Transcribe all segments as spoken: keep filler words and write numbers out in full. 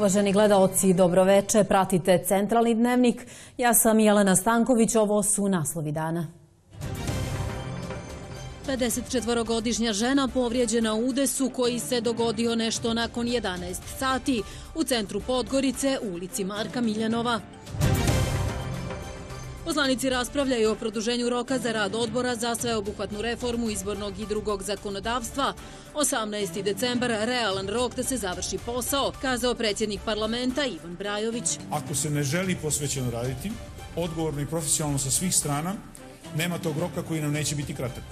Uvaženi gledaoci, dobroveče, pratite Centralni dnevnik. Ja sam Jelena Stanković, ovo su naslovi dana. pedesetčetvorogodišnja žena povrijeđena u udesu koji se dogodio nešto nakon jedanaest sati u centru Podgorice u ulici Marka Miljanova. Poslanici raspravljaju o produženju roka za rad odbora za sveobuhvatnu reformu izbornog i drugog zakonodavstva. osamnaesti decembar, realan rok da se završi posao, kazao predsjednik parlamenta Ivan Brajović. Ako se ne želi posvećeno raditi, odgovorno i profesionalno sa svih strana, nema tog roka koji nam neće biti kratak.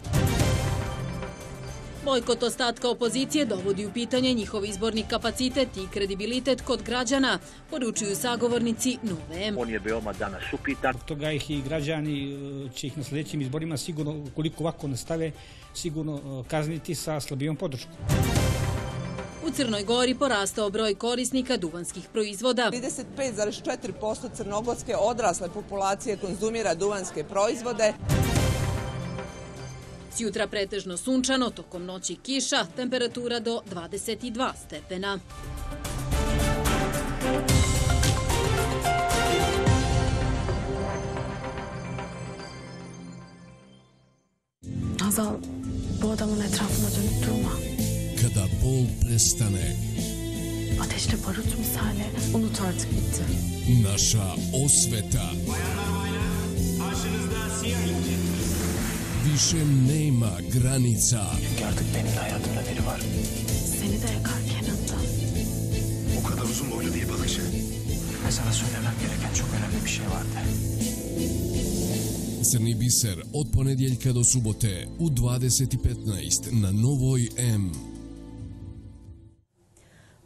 Bojkot ostatka opozicije dovodi u pitanje njihov izborni kapacitet i kredibilitet kod građana, poručuju sagovornici Nove M. On je veoma danas upitan. Toga ih i građani će ih na sljedećim izborima sigurno, ukoliko ovako nastave, sigurno kazniti sa slabijom podrškom. U Crnoj Gori porastao broj korisnika duvanskih proizvoda. trideset pet zarez četiri posto crnogorske odrasle populacije konzumira duvanske proizvode. Sjutra pretežno sunčano, tokom noći kiša, temperatura do dvadeset dva stepena. Hazal, bodamo ne trafimo do truma. Kada bol prestane, Ateşle barut misali unut artık bitti. naša osveta više nema granica. Çünkü artık benim de hayatımda biri var. Seni de yakar Kenan'da. O kadar uzun boylu değil balıkçı. Ve sana söylemem gereken çok önemli bir şey vardı. Crni biser od ponedjeljka do subote u dvadeset i petnaest na Novoj M.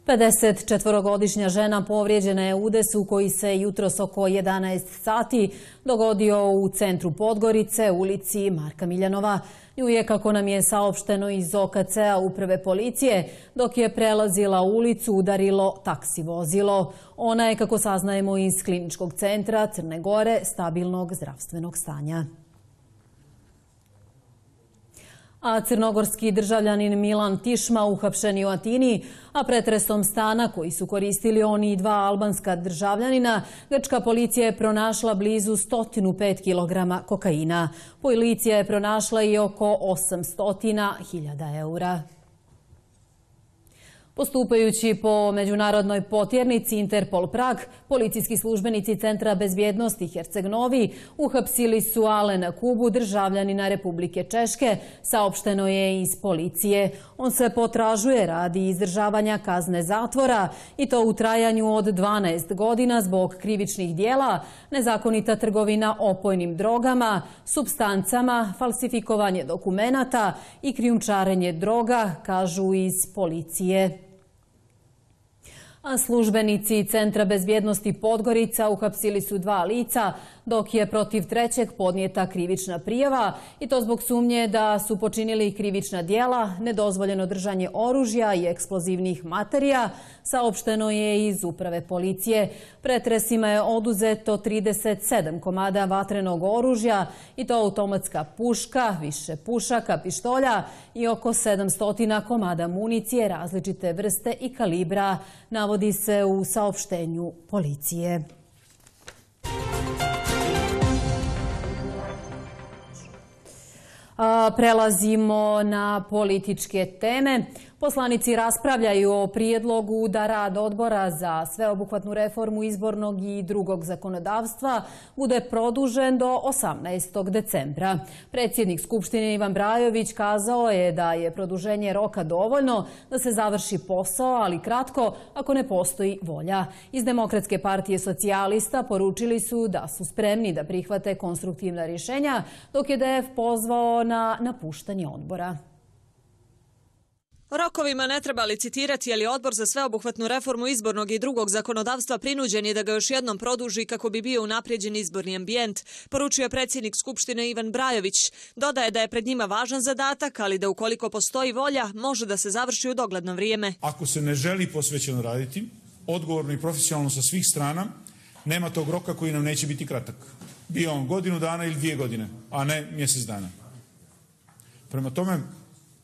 pedesetčetvorogodišnja žena povrijeđena je u udesu koji se jutros oko jedanaest sati dogodio u centru Podgorice, ulici Marka Miljanova. Nju je, kako nam je saopšteno iz O K C-a Uprave policije, dok je prelazila ulicu, udarilo taksi vozilo. Ona je, kako saznajemo iz Kliničkog centra Crne Gore, stabilnog zdravstvenog stanja. A crnogorski državljanin Milan Tišma uhapšen je u Atini, a pretresom stana koji su koristili oni i dva albanska državljanina, grčka policija je pronašla blizu sto pet kilograma kokaina. Policija je pronašla i oko osamsto hiljada eura. Postupajući po međunarodnoj potjernici Interpol Prag, policijski službenici Centra bezbjednosti Herceg-Novi uhapsili su Alena Kubu, državljanina Republike Češke, saopšteno je iz policije. On se potražuje radi izdržavanja kazne zatvora i to u trajanju od dvanaest godina zbog krivičnih dijela, nezakonita trgovina opojnim drogama, supstancama, falsifikovanje dokumenata i krijumčarenje droga, kažu iz policije. A službenici Centra bezbjednosti Podgorica uhapsili su dva lica, dok je protiv trećeg podnijeta krivična prijava i to zbog sumnje da su počinili krivična djela, nedozvoljeno držanje oružja i eksplozivnih materija, saopšteno je iz Uprave policije. Pretresima je oduzeto trideset sedam komada vatrenog oružja i to automatska puška, više pušaka, pištolja i oko sedamsto komada municije različite vrste i kalibra, navodi se u saopštenju policije. Prelazimo na političke teme. Poslanici raspravljaju o prijedlogu da rad odbora za sveobuhvatnu reformu izbornog i drugog zakonodavstva bude produžen do osamnaestog decembra. Predsjednik Skupštine Ivan Brajović kazao je da je produženje roka dovoljno da se završi posao, ali kratko ako ne postoji volja. Iz Demokratske partije socijalista poručili su da su spremni da prihvate konstruktivna rješenja, dok je D F pozvao na napuštanje odbora. Rokovima ne treba licitirati, ali odbor za sveobuhvatnu reformu izbornog i drugog zakonodavstva prinuđen je da ga još jednom produži kako bi bio unaprijeđen izborni ambijent, poručio predsjednik Skupštine Ivan Brajović. Dodaje da je pred njima važan zadatak, ali da ukoliko postoji volja, može da se završi u dogledno vrijeme. Ako se ne želi posvećeno raditi, odgovorno i profesionalno sa svih strana, nema tog roka koji nam neće biti kratak. Bio on godinu dana ili dvije godine, a ne mjesec dana. Prema tome,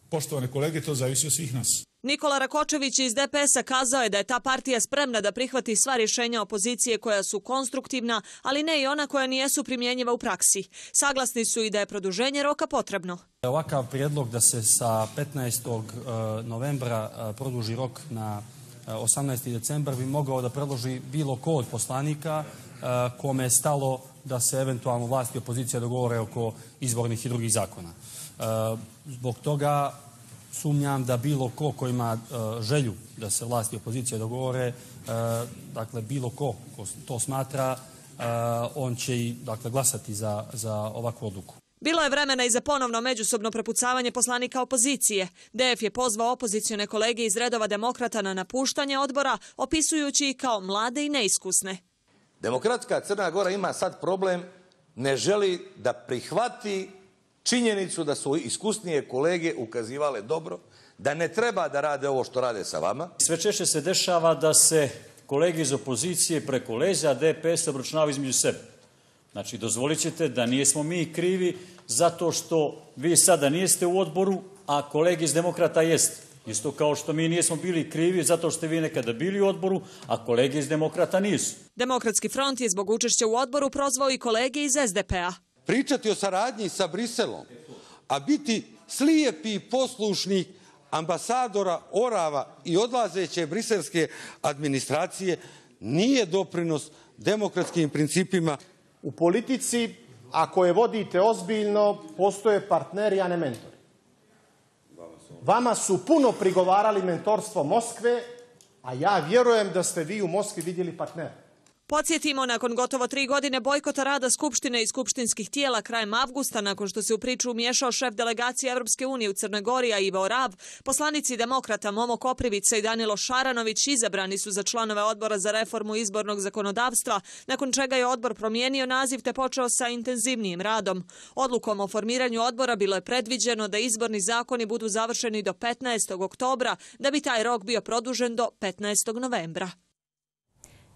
Poštovane kolege, to zavisi od svih nas. Nikola Rakočević iz D P S-a kazao je da je ta partija spremna da prihvati sva rješenja opozicije koja su konstruktivna, ali ne i ona koja nijesu primjenjiva u praksi. Saglasni su i da je produženje roka potrebno. Ovakav prijedlog da se sa petnaestog novembra produži rok na osamnaesti decembar bi mogao da predloži bilo ko od poslanika kome je stalo da se eventualno vlast i opozicija dogovore oko izbornih i drugih zakona. Zbog toga sumnjam da bilo ko ko ima želju da se vlast i opozicija dogovore, dakle bilo ko ko to smatra, on će i dakle glasati za, za ovakvu odluku. Bilo je vremena i za ponovno međusobno prepucavanje poslanika opozicije. D F je pozvao opozicione kolege iz redova demokrata na napuštanje odbora, opisujući ih kao mlade i neiskusne. Demokratska Crna Gora ima sad problem, ne želi da prihvati činjenicu da su iskusnije kolege ukazivale dobro, da ne treba da rade ovo što rade sa vama. Sve češće se dešava da se kolege iz opozicije preko leđa D P S obračunavaju između sebe. Znači, dozvolit ćete da nijesmo mi krivi zato što vi sada nijeste u odboru, a kolege iz demokrata jeste. Isto kao što mi nismo bili krivi zato što ste vi nekada bili u odboru, a kolege iz demokrata nisu. Demokratski front je zbog učešća u odboru prozvao i kolege iz S D P-a. Pričati o saradnji sa Briselom, a biti slijepi poslušnik ambasadora Orava i odlazeće briselske administracije nije doprinos demokratskim principima. U politici, ako je vodite ozbiljno, postoje partneri, a ne mentori. Vama su puno prigovarali mentorstvo Moskve, a ja vjerujem da ste vi u Moskvi vidjeli partnera. Podsjetimo, nakon gotovo tri godine bojkota rada Skupštine i skupštinskih tijela krajem avgusta, nakon što se u priču umiješao šef delegacije Evropske unije u Crnoj Gori, a Ivo Rab, poslanici demokrata Momo Koprivica i Danilo Šaranović izabrani su za članove odbora za reformu izbornog zakonodavstva, nakon čega je odbor promijenio naziv te počeo sa intenzivnijim radom. Odlukom o formiranju odbora bilo je predviđeno da izborni zakoni budu završeni do petnaestog oktobra, da bi taj rok bio produžen do petnaestog novembra.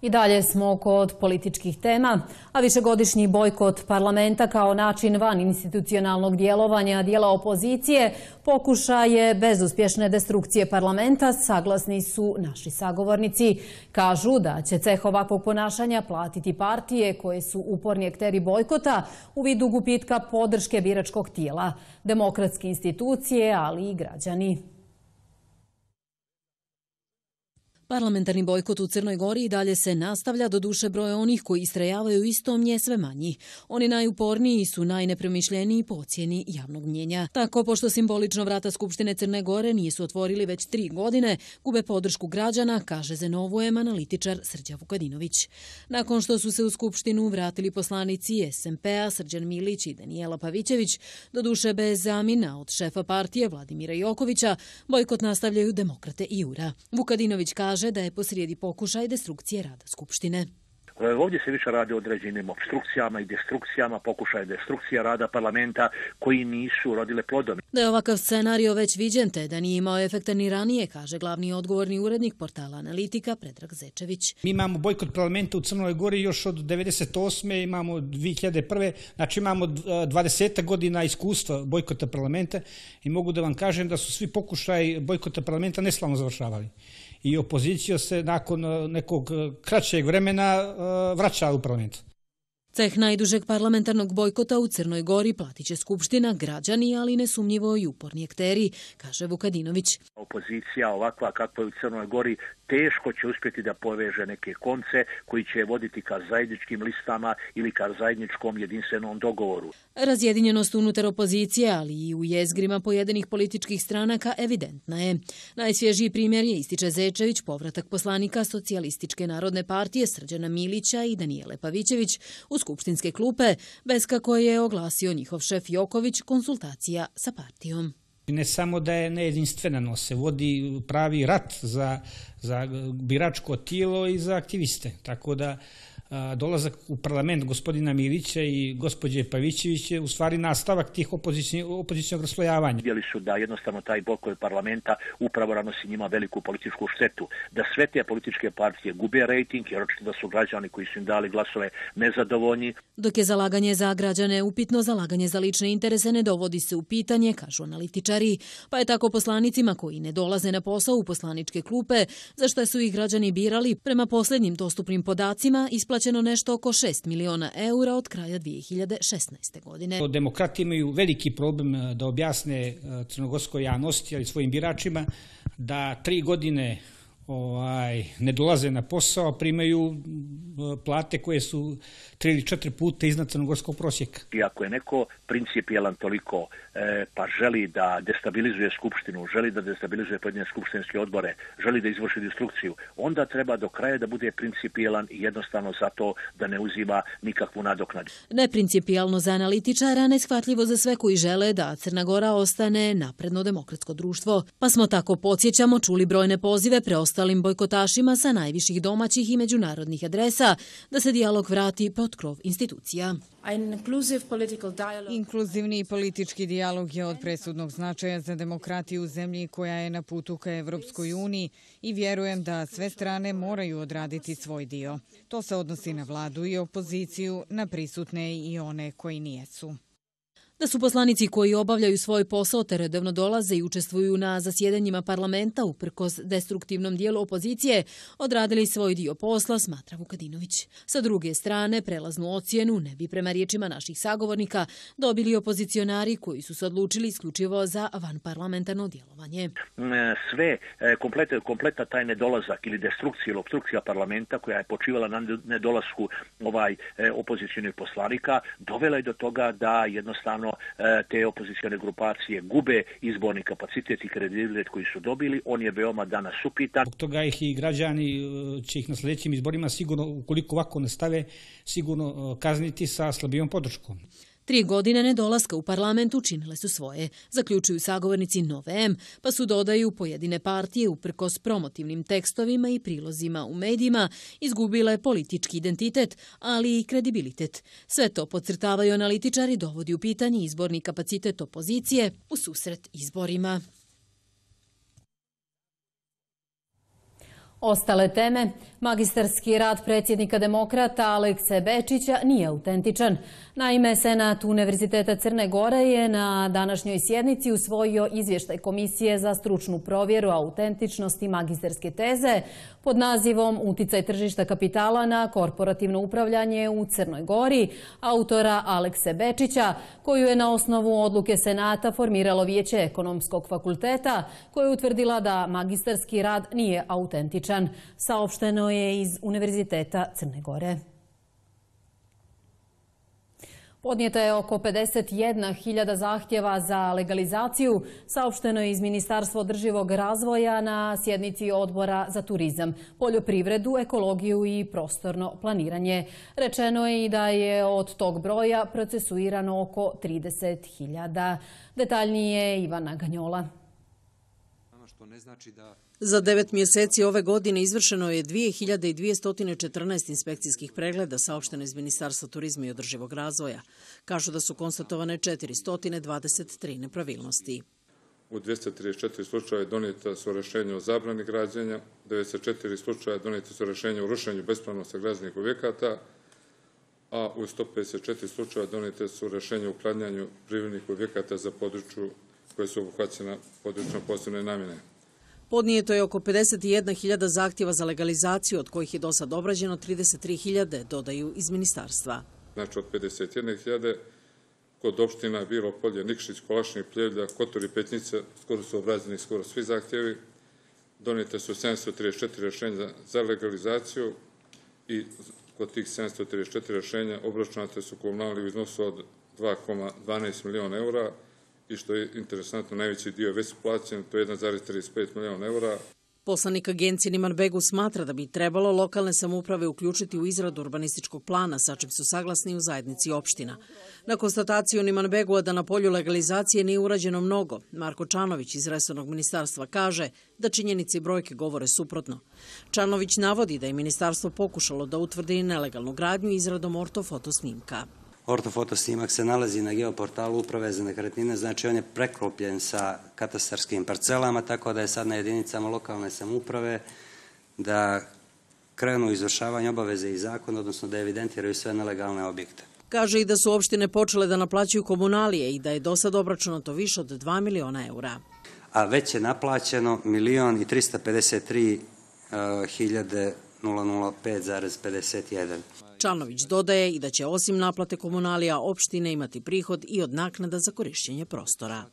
I dalje smo kod političkih tema, a višegodišnji bojkot parlamenta kao način van institucionalnog djelovanja dijela opozicije pokušaje bezuspješne destrukcije parlamenta, saglasni su naši sagovornici. Kažu da će ceh ovakvog ponašanja platiti partije koje su uporni akteri bojkota u vidu gubitka podrške biračkog tijela, demokratske institucije, ali i građani. Parlamentarni bojkot u Crnoj Gori i dalje se nastavlja, do duše broja onih koji istrajavaju istom je sve manji. Oni najuporniji su najnepremišljeniji po ocjeni javnog mnjenja. Tako, pošto simbolično vrata Skupštine Crne Gore nisu otvorili već tri godine, gube podršku građana, kaže Zenovujem analitičar Srđan Vukadinović. Nakon što su se u Skupštinu vratili poslanici S M P-a Srđan Milić i Danijela Pavićević, do duše bez zamjena od šefa partije Vladimira Jokovića, bojkot nastavljaju demokrate i Jura. Vukadinović kaže da je posrijedi pokušaj destrukcije rada Skupštine. Ovdje se više radi o određenim opstrukcijama i destrukcijama, pokušaj destrukcije rada parlamenta koji nisu rodile plodom. Da je ovakav scenario već viđen te da nije imao efekta ni ranije, kaže glavni odgovorni urednik portala Analitika Predrag Zečević. Mi imamo bojkot parlamenta u Crnoj Gori još od devedeset osme. imamo dvije hiljade prve. Znači imamo dvadeset godina iskustva bojkota parlamenta i mogu da vam kažem da su svi pokušaj bojkota parlamenta neslavno završavali. I opozicija se nakon nekog kraćeg vremena vraća u parlament. Ceh najdužeg parlamentarnog bojkota u Crnoj Gori platit će Skupština, građani, ali nesumnjivo i uporni akteri, kaže Vukadinović. Opozicija ovakva kakva je u Crnoj Gori teško će uspjeti da poveže neke konce koji će voditi ka zajedničkim listama ili ka zajedničkom jedinstvenom dogovoru. Razjedinjenost unutar opozicije, ali i u jezgrima pojedinih političkih stranaka evidentna je. Najsvježiji primjer je, ističe Zečević, povratak poslanika Socijalističke narodne partije Srđana Milića i Danijele Pavićević u skupštinske klupe, bez kako je oglasio njihov šef Joković konsultacija sa partijom. Ne samo da je nejedinstvena, no se vodi pravi rat za, za biračko tijelo i za aktiviste. Tako da dolazak u parlament gospodina Milića i gospođe Pavićević je u stvari nastavak tih opozicijnog raslojavanja. Vidjeli su da jednostavno taj blokove parlamenta upravo nanosi njima veliku političku štetu, da sve te političke partije gube rejting, jer očito da su građani koji su im dali glasove nezadovoljni. Dok je zalaganje za građane upitno, zalaganje za lične interese ne dovodi se u pitanje, kažu analitičari, pa je tako poslanicima koji ne dolaze na posao u poslaničke klupe, za što su ih građani birali, prema posljednjim dostupnim podacima isplaćeno nešto oko šest miliona eura od kraja dvije hiljade šesnaeste. godine. Demokrati imaju veliki problem da objasne crnogorskoj javnosti, ali svojim biračima, da tri godine ovaj, ne dolaze na posao, primaju plate koje su tri ili četiri puta iznad crnogorskog prosjeka. I ako je neko principijelan toliko e, pa želi da destabilizuje skupštinu, želi da destabilizuje pojedine skupštinske odbore, želi da izvrši destrukciju, onda treba do kraja da bude principijelan i jednostavno zato da ne uzima nikakvu nadoknadu. Neprincipijalno za analitičara, neshvatljivo za sve koji žele da Crna Gora ostane napredno demokratsko društvo. Pa smo tako, podsjećamo, čuli brojne pozive preostalim bojkotašima sa najviših domaćih i međunarodnih adresa da se dijalog vrati pod krov institucija. Inkluzivni politički dijalog je od presudnog značaja za demokratiju u zemlji koja je na putu ka Evropskoj uniji i vjerujem da sve strane moraju odraditi svoj dio. To se odnosi na vladu i opoziciju, na prisutne i one koji nijesu. Da su poslanici koji obavljaju svoj posao te redovno dolaze i učestvuju na zasjedanjima parlamenta uprkos destruktivnom dijelu opozicije, odradili svoj dio posla, smatra Vukadinović. Sa druge strane, prelaznu ocjenu ne bi prema riječima naših sagovornika dobili opozicionari koji su se odlučili isključivo za vanparlamentarno djelovanje. Sve, kompletna, kompletna taj nedolazak ili destrukcija ili obstrukcija parlamenta koja je počivala na nedolasku ovaj opozicijonih poslanika, dovela je do toga da jednostavno te opozicione grupacije gube izborni kapacitet i kredibilitet koji su dobili, on je veoma danas upitan. Zbog toga ih i građani će ih na sljedećim izborima sigurno, ukoliko ovako nastave, sigurno kazniti sa slabijom podrškom. Tri godine nedolaska u parlament učinile su svoje, zaključuju sagovornici Nove M, pa su, dodaju, pojedine partije uprkos promotivnim tekstovima i prilozima u medijima izgubile politički identitet, ali i kredibilitet. Sve to, podcrtavaju analitičari, dovodi u pitanje izborni kapacitet opozicije u susret izborima. Ostale teme. Magistarski rad predsjednika demokrata Alekse Bečića nije autentičan. Naime, Senat Univerziteta Crne Gore je na današnjoj sjednici usvojio izvještaj Komisije za stručnu provjeru autentičnosti magistarske teze pod nazivom Uticaj tržišta kapitala na korporativno upravljanje u Crnoj Gori, autora Alekse Bečića, koju je na osnovu odluke Senata formiralo Vijeće Ekonomskog fakulteta, koja je utvrdila da magistarski rad nije autentičan. Saopšteno je iz Univerziteta Crne Gore. Podnijeta je oko pedeset jedna hiljada zahtjeva za legalizaciju, saopšteno je iz Ministarstva održivog razvoja na sjednici Odbora za turizam, poljoprivredu, ekologiju i prostorno planiranje. Rečeno je i da je od tog broja procesuirano oko trideset hiljada. Detaljnije Ivana Ganjola. Za devet mjeseci ove godine izvršeno je dvije hiljade dvjesto četrnaest inspekcijskih pregleda, saopšteno iz Ministarstva turizma i održivog razvoja. Kažu da su konstatovane četiristo dvadeset tri nepravilnosti. U dvjesto trideset četiri slučaja donijeta su rješenja o zabrani građenja, devedeset četiri slučaja donijeta su rješenja o rušenju bespravno sagrađenih objekata, a u sto pedeset četiri slučaja donijete su rješenja o uklanjanju privrednih objekata za području koje su obuhvaćena područjom posebne namjene. Podnijeto je oko pedeset jedna hiljada zahtjeva za legalizaciju, od kojih je do sad obrađeno trideset tri hiljade, dodaju iz ministarstva. Znači od pedeset jedne hiljade kod opština Bilo Polje, Nikšić, Kolašnik, Pljevlja, Kotor i Petnjica skoro su obrađeni skoro svi zahtjevi. Donijete su sedamsto trideset četiri rješenja za legalizaciju i kod tih sedamsto trideset četiri rješenja obračunate su komunalni u iznosu od dva zarez dvanaest miliona eura, i što je interesantno, najveći dio već plaćen, to je jedan zarez trideset pet miliona eura. Poslanik agencije Niman Begu smatra da bi trebalo lokalne samouprave uključiti u izradu urbanističkog plana, sa čim su saglasni u zajednici opština. Na konstataciju Niman Begua da na polju legalizacije nije urađeno mnogo, Marko Čanović iz resornog ministarstva kaže da činjenice i brojke govore suprotno. Čanović navodi da je ministarstvo pokušalo da utvrdi nelegalnu gradnju izradom ortofoto snimka. Ortofoto snimak se nalazi na geoportalu Uprave za nekretnine, znači on je preklopljen sa katastarskim parcelama, tako da je sad na jedinicama lokalne samouprave da krenu izvršavanje obaveze i zakona, odnosno da evidentiraju sve nelegalne objekte. Kaže i da su opštine počele da naplaćuju komunalije i da je do sad obračunato više od dva miliona eura. A već je naplaćeno milion i trista pedeset tri hiljade pet zarez pedeset jedan. Čanović dodaje i da će osim naplate komunalija opštine imati prihod i od naknada za korišćenje prostora.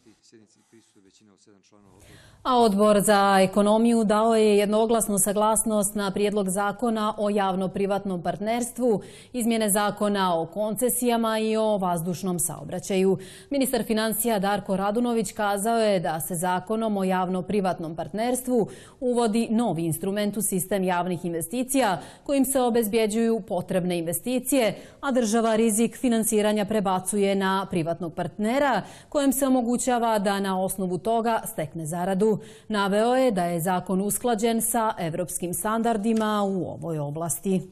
A Odbor za ekonomiju dao je jednoglasnu saglasnost na prijedlog zakona o javno-privatnom partnerstvu, izmjene zakona o koncesijama i o vazdušnom saobraćaju. Ministar financija Darko Radunović kazao je da se zakonom o javno-privatnom partnerstvu uvodi novi instrument u sistem javnih investicija kojim se obezbjeđuju potrebne investicije, a država rizik finansiranja prebacuje na privatnog partnera kojem se omogućava da na osnovu toga stekne zaradu. Naveo je da je zakon usklađen sa evropskim standardima u ovoj oblasti.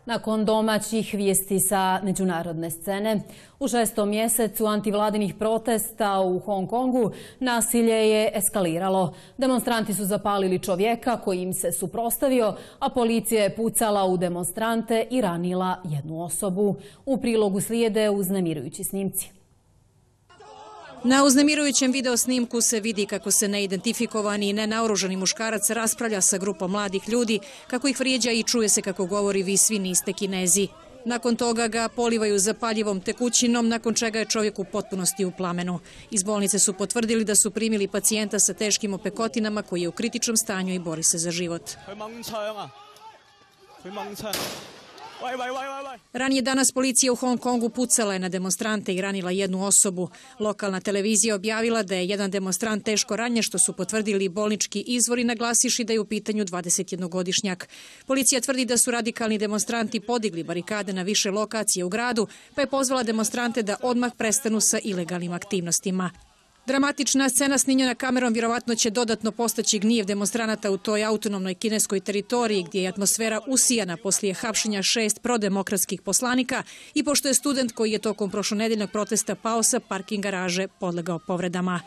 Nakon domaćih vijesti sa međunarodne scene, u šestom mjesecu antivladinih protesta u Hong Kongu nasilje je eskaliralo. Demonstranti su zapalili čovjeka koji im se suprotstavio, a policija je pucala u demonstrante i ranila jednu osobu. U prilogu slijede uznemirujući snimci. Na uznemirujućem video snimku se vidi kako se neidentifikovani i nenaoružani muškarac raspravlja sa grupom mladih ljudi, kako ih vrijeđa i čuje se kako govori vi svi niste Kinezi. Nakon toga ga polivaju zapaljivom tekućinom, nakon čega je čovjek u potpunosti u plamenu. Iz bolnice su potvrdili da su primili pacijenta sa teškim opekotinama koji je u kritičnom stanju i bori se za život. Ranije danas policija u Hong Kongu pucala je na demonstrante i ranila jednu osobu. Lokalna televizija objavila da je jedan demonstrant teško ranjen, što su potvrdili bolnički izvori, naglasiši da je u pitanju dvadesetjednogodišnjak. Policija tvrdi da su radikalni demonstranti podigli barikade na više lokacije u gradu, pa je pozvala demonstrante da odmah prestanu sa ilegalnim aktivnostima. Dramatična scena snimljena kamerom vjerovatno će dodatno postaći gnjev demonstranata u toj autonomnoj kineskoj teritoriji gdje je atmosfera usijana poslije hapšenja šest prodemokratskih poslanika i pošto je student koji je tokom prošlonedeljnog protesta pao sa parking garaže podlegao povredama.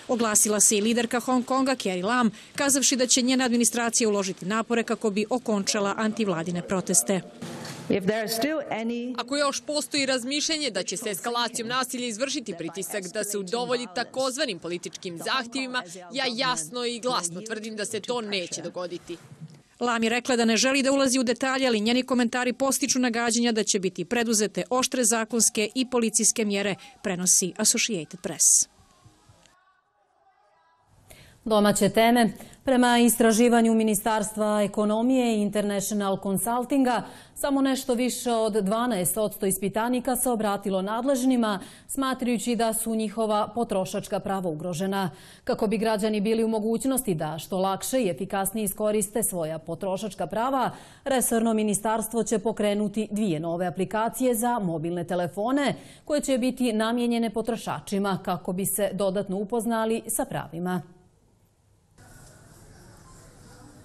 Oglasila se i liderka Hong Konga Carrie Lam, kazavši da će njena administracija uložiti napore kako bi okončala antivladine proteste. Ako još postoji razmišljanje da će se eskalacijom nasilja izvršiti pritisak da se udovolji takozvanim političkim zahtjevima, ja jasno i glasno tvrdim da se to neće dogoditi. Lam je rekla da ne želi da ulazi u detalje, ali njeni komentari postiču nagađanja da će biti preduzete oštre zakonske i policijske mjere, prenosi Associated Press. Domaće teme. Prema istraživanju Ministarstva ekonomije i International Consultinga, samo nešto više od dvanaest posto ispitanika se obratilo nadležnima, smatrajući da su njihova potrošačka prava ugrožena. Kako bi građani bili u mogućnosti da što lakše i efikasnije iskoriste svoja potrošačka prava, resorno ministarstvo će pokrenuti dvije nove aplikacije za mobilne telefone koje će biti namijenjene potrošačima kako bi se dodatno upoznali sa pravima.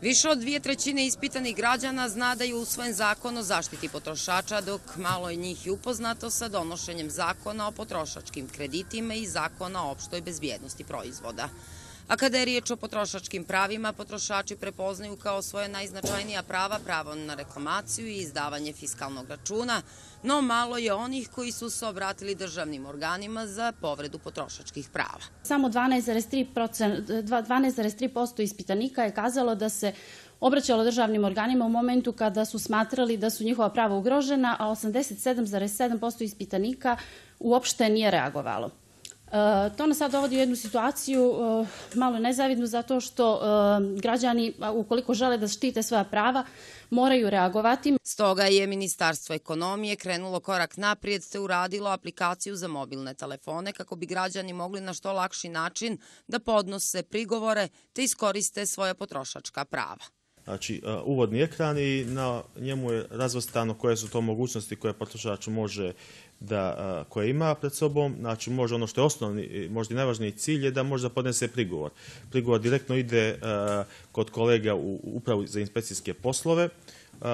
Više od dvije trećine ispitanih građana zna da je usvojen zakon o zaštiti potrošača, dok malo je njih i upoznato sa donošenjem zakona o potrošačkim kreditima i zakona o opštoj bezbjednosti proizvoda. A kada je riječ o potrošačkim pravima, potrošači prepoznaju kao svoje najznačajnija prava pravo na reklamaciju i izdavanje fiskalnog računa, no malo je onih koji su se obratili državnim organima za povredu potrošačkih prava. Samo dvanaest zarez tri posto ispitanika je kazalo da se obraćalo državnim organima u momentu kada su smatrali da su njihova prava ugrožena, a osamdeset sedam zarez sedam posto ispitanika uopšte nije reagovalo. To nas sad dovodi u jednu situaciju malo nezavidnu zato što građani, ukoliko žele da štite svoja prava, moraju reagovati. Stoga je Ministarstvo ekonomije krenulo korak naprijed te uradilo aplikaciju za mobilne telefone kako bi građani mogli na što lakši način da podnose prigovore te iskoriste svoja potrošačka prava. Znači, uvodni ekran i na njemu je razvrstano koje su to mogućnosti koje potrošač može da, koje ima pred sobom. Znači, može ono što je osnovni, možda i najvažniji cilj je da može da podnese prigovor. Prigovor direktno ide uh, kod kolega u upravu za inspekcijske poslove, uh,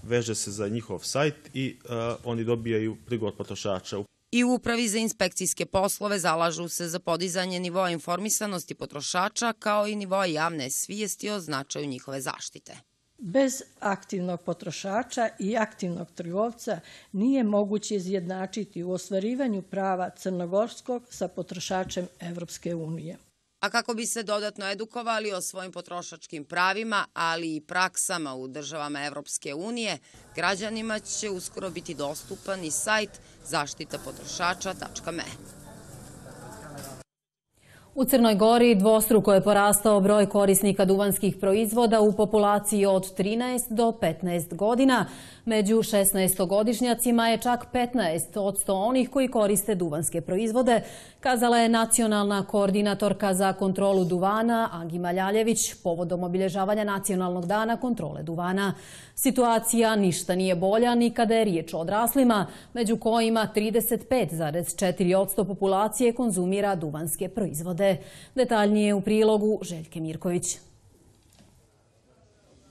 veže se za njihov sajt i uh, oni dobijaju prigovor potrošača. I u Upravi za inspekcijske poslove zalažu se za podizanje nivoa informisanosti potrošača kao i nivoa javne svijesti o značaju njihove zaštite. Bez aktivnog potrošača i aktivnog trgovca nije moguće izjednačiti u ostvarivanju prava crnogorskog sa potrošačem Evropske unije. A kako bi se dodatno edukovali o svojim potrošačkim pravima, ali i praksama u državama Evropske unije, građanima će uskoro biti dostupan i sajt zaštita potrošača tačka me. U Crnoj Gori dvostruko je porastao broj korisnika duvanskih proizvoda u populaciji od trinaest do petnaest godina. Među šesnaestogodišnjacima je čak petnaest posto onih koji koriste duvanske proizvode, kazala je nacionalna koordinatorka za kontrolu duvana Agima Ljaljević povodom obilježavanja Nacionalnog dana kontrole duvana. Situacija ništa nije bolja ni kada je riječ o odraslima, među kojima trideset pet zarez četiri posto populacije konzumira duvanske proizvode. Detaljnije u prilogu Željke Mirković.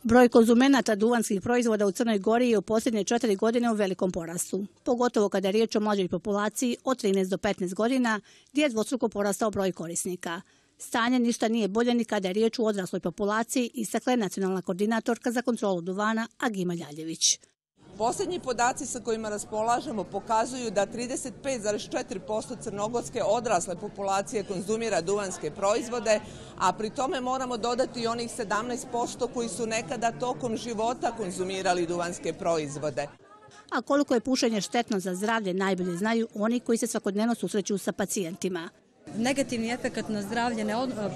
Broj konzumenata duvanskih proizvoda u Crnoj Gori je u posljednje četiri godine u velikom porastu, pogotovo kada je riječ o mlađoj populaciji od trinaest do petnaest godina, gdje je dvostruko porastao broj korisnika. Stanje ništa nije bolje ni kada je riječ o odrasloj populaciji, istakla je nacionalna koordinatorka za kontrolu duvana Agima Ljaljević. Posljednji podaci sa kojima raspolažemo pokazuju da trideset pet zarez četiri posto crnogorske odrasle populacije konzumira duvanske proizvode, a pri tome moramo dodati i onih sedamnaest posto koji su nekada tokom života konzumirali duvanske proizvode. A koliko je pušenje štetno za zdravlje najbolje znaju oni koji se svakodnevno susreću sa pacijentima. Negativni efekt na zdravlje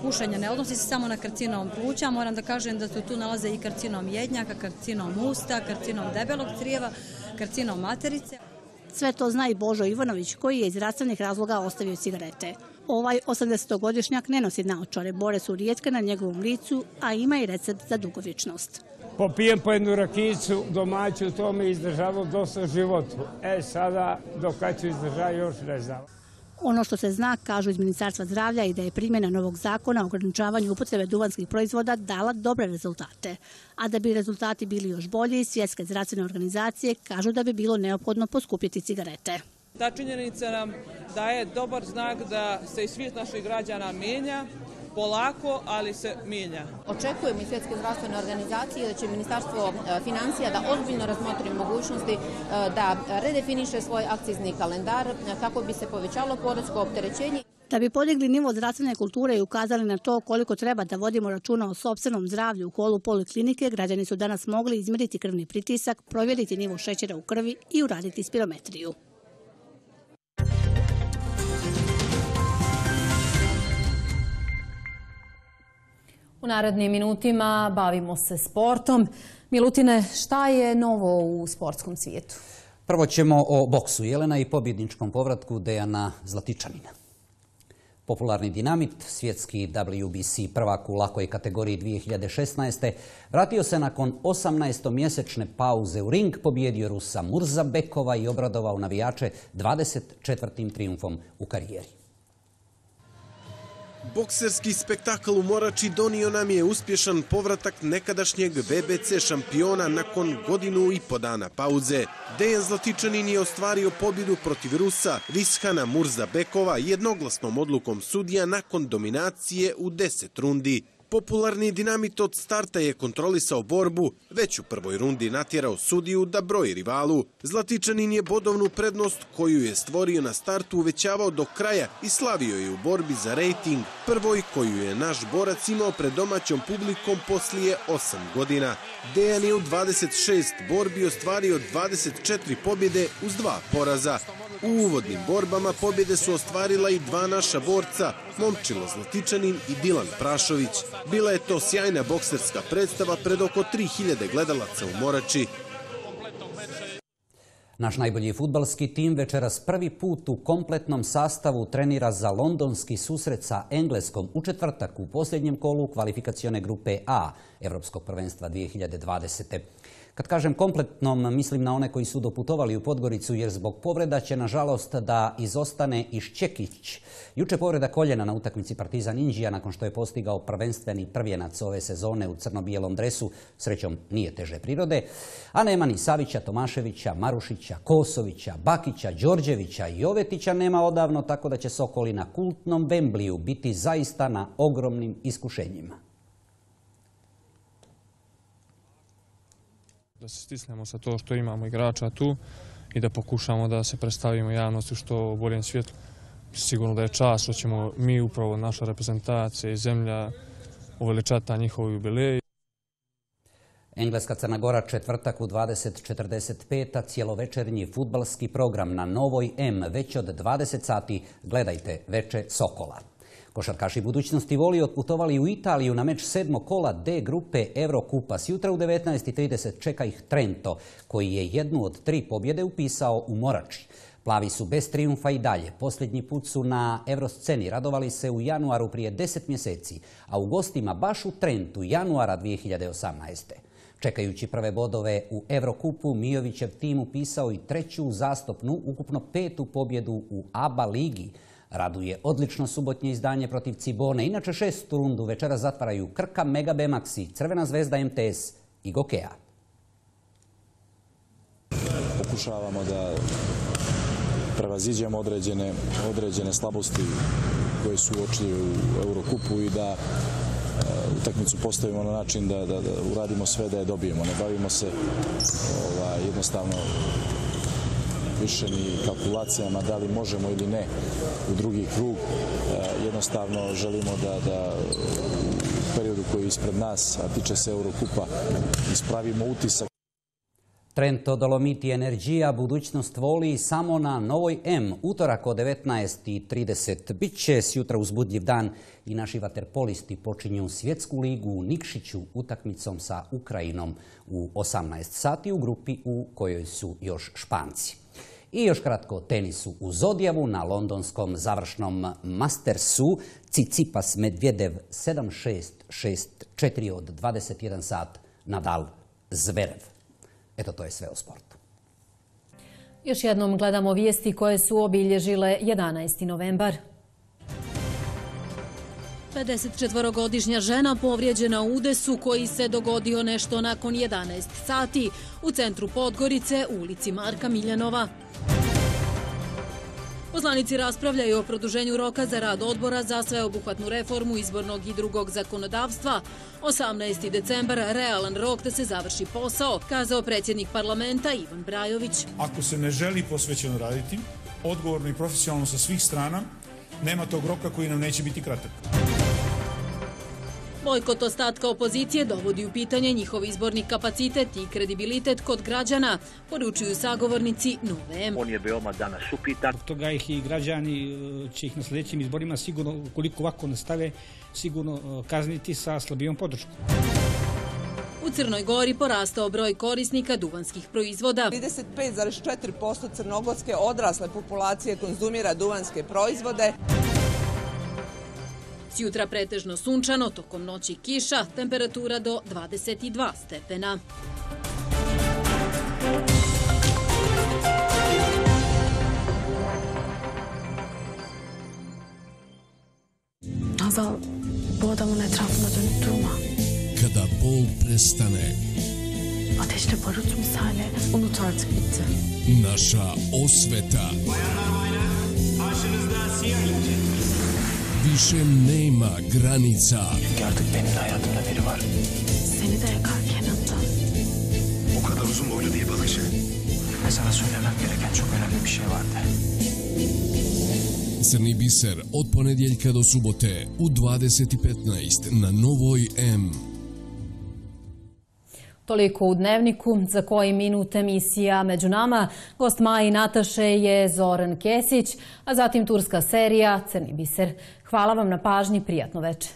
pušenja ne odnosi se samo na karcinom pluća, moram da kažem da se tu nalaze i karcinom jednjaka, karcinom usta, karcinom debelog crijeva, karcinom materice. Sve to zna i Božo Ivanović koji je iz zdravstvenih razloga ostavio cigarete. Ovaj osamdesetogodišnjak ne nosi naočare, bore su rijetke na njegovom licu, a ima i recept za dugovječnost. Popijem po jednu rakijicu domaću, to me izdržalo dosta životu. E sada, dok kad ću izdržati, još ne znam. Ono što se zna, kažu iz Ministarstva zdravlja, i da je primjena novog zakona o ograničavanju upotrebe duvanskih proizvoda dala dobre rezultate. A da bi rezultati bili još bolji, svjetske zdravstvene organizacije kažu da bi bilo neophodno poskupiti cigarete. Ta činjenica nam daje dobar znak da se i svijet naših građana mijenja, polako, ali se mijenja. Očekujemo iz Svjetske zdravstvene organizacije da će Ministarstvo financija da ozbiljno razmotri mogućnosti da redefiniše svoj akcizni kalendar kako bi se povećalo poresko opterećenje. Da bi podigli nivo zdravstvene kulture i ukazali na to koliko treba da vodimo računa o sopstvenom zdravlju u holu poliklinike, građani su danas mogli izmjeriti krvni pritisak, provjeriti nivo šećera u krvi i uraditi spirometriju. U narednim minutima bavimo se sportom. Milutine, šta je novo u sportskom svijetu? Prvo ćemo o boksu Jelena i pobjedničkom povratku Dejana Zlatičanina. Popularni dinamit, svjetski W B C prvak u lakoj kategoriji dvije hiljade šesnaeste. vratio se nakon osamnaestomjesečne pauze u ring, pobjedio Rusa Murzabekova i obradovao navijače dvadeset četvrtim trijumfom u karijeri. Bokserski spektakl u Morači donio nam je uspješan povratak nekadašnjeg V B C šampiona nakon godinu i po dana pauze. Dejan Zlatičanin je ostvario pobjedu protiv Rusa Rishana Murzabekova jednoglasnom odlukom sudija nakon dominacije u deset rundi. Popularni Dinamit od starta je kontrolisao borbu, već u prvoj rundi natjerao sudiju da broji rivalu. Zlatičanin je bodovnu prednost koju je stvorio na startu uvećavao do kraja i slavio je u borbi za rejting, prvoj koju je naš borac imao pred domaćom publikom poslije osam godina. Dejan je u dvadeset šest borbi ostvario dvadeset četiri pobjede uz dva poraza. U uvodnim borbama pobjede su ostvarila i dva naša borca, Momčilo Zlatičanin i Dilan Prašović. Bila je to sjajna bokserska predstava pred oko tri hiljade gledalaca u Morači. Naš najbolji fudbalski tim večeras prvi put u kompletnom sastavu trenira za londonski susret sa Engleskom u četvrtak u posljednjem kolu kvalifikacione grupe A Evropskog prvenstva dvije hiljade dvadesete. Kad kažem kompletnom, mislim na one koji su doputovali u Podgoricu jer zbog povreda će nažalost da izostane Iščekić. Juče povreda koljena na utakmici Partizan Inđija nakon što je postigao prvenstveni prvjenac ove sezone u crno-bijelom dresu, srećom nije teže prirode, a nema ni Savića, Tomaševića, Marušića, Kosovića, Bakića, Đorđevića i Jovetića nema odavno, tako da će Sokoli na kultnom Wembliju biti zaista na ogromnim iskušenjima. Da se stisnemo sa to što imamo igrača tu i da pokušamo da se predstavimo javnosti u što boljem svjetlu. Sigurno da je čast što ćemo mi, upravo naša reprezentacija i zemlja, uveličati njihov jubilej. Engleska Crna Gora četvrtak u dvadeset četrdeset pet, a cijelovečernji fudbalski program na Novoj M već od dvadeset sati gledajte Veče Sokola. Košarkaši budućnosti Voli otputovali u Italiju na meč sedmog kola D grupe Eurokupa. Sjutra u devetnaest i trideset čeka ih Trento, koji je jednu od tri pobjede upisao u Morači. Plavi su bez trijumfa i dalje. Posljednji put su na Eurosceni radovali se u januaru prije deset mjeseci, a u gostima baš u Trentu januara dvije hiljade osamnaeste. Čekajući prve bodove u Eurokupu, Mijovićev tim upisao i treću uzastopnu, ukupno petu pobjedu u A B A ligi. Raduje odlično subotnje izdanje protiv Cibone. Inače šestu rundu večera zatvaraju Krka, Mega Bemaxi, Crvena zvezda M T S i Gokea. Pokušavamo da prevaziđemo određene, određene slabosti koje su uočljive u Eurokupu i da utakmicu postavimo na način da, da, da uradimo sve da je dobijemo. Ne bavimo se ovaj, jednostavno više ni kalkulacijama da li možemo ili ne u drugi krug. Jednostavno želimo da, da u periodu koji je ispred nas, a tiče se Eurokupa, ispravimo utisak. Trento, Dolomiti, Energija, budućnost Voli samo na Novoj M. Utorak od devetnaest i trideset. Biće sjutra uzbudljiv dan i naši vaterpolisti počinju svjetsku ligu u Nikšiću utakmicom sa Ukrajinom u osamnaest sati u grupi u kojoj su još Španci. I još kratko o tenisu u Zodjavu na londonskom završnom Mastersu. Cicipas Medvjedev sedam šest, šest četiri od dvadeset jedan sat, Nadal Zverev. Eto, to je sve o sportu. Još jednom gledamo vijesti koje su obilježile jedanaesti novembar. pedesetčetvorogodišnja žena povrijeđena u udesu koji se dogodio nešto nakon jedanaest sati u centru Podgorice u ulici Marka Miljanova. Poslanici raspravljaju o produženju roka za rad odbora za sveobuhvatnu reformu izbornog i drugog zakonodavstva. osamnaesti decembar, realan rok da se završi posao, kazao predsjednik parlamenta Ivan Brajović. Ako se ne želi posvećeno raditi, odgovorno i profesionalno sa svih strana, nema tog roka koji nam neće biti kratak. Bojkot ostatka opozicije dovodi u pitanje njihov izborni kapacitet i kredibilitet kod građana, poručuju sagovornici Nove M. On je veoma danas upitan. Zbog toga ih i građani će ih na sljedećim izborima sigurno, ukoliko ovako nastave, sigurno kazniti sa slabijom podrškom. U Crnoj Gori porastao broj korisnika duvanskih proizvoda. trideset pet zarez četiri posto crnogorske odrasle populacije konzumira duvanske proizvode. Sjutra pretežno sunčano, tokom noći kiša, temperatura do dvadeset dva stepena. Nazal, boda mu ne trafno do tuma. Kada bol prestane, ateşle barut misali unut artık bitti. Naša osveta. Bayanlar baylar, karşınızda siyah inci. više nema granica. Artık benim de hayatımda biri var. Seni de yakarken hatta. O kadar uzun boylu değil balıkçı. Ve sana söylemem gereken çok önemli bir şey vardı. Crni biser od ponedjeljka do subote u dvadeset i petnaest na Novoj M. Toliko u Dnevniku, za koji minut emisija Među nama. Gost Maji Nataše je Zoran Kesić, a zatim turska serija Crni biser. Hvala vam na pažnji, prijatno večer.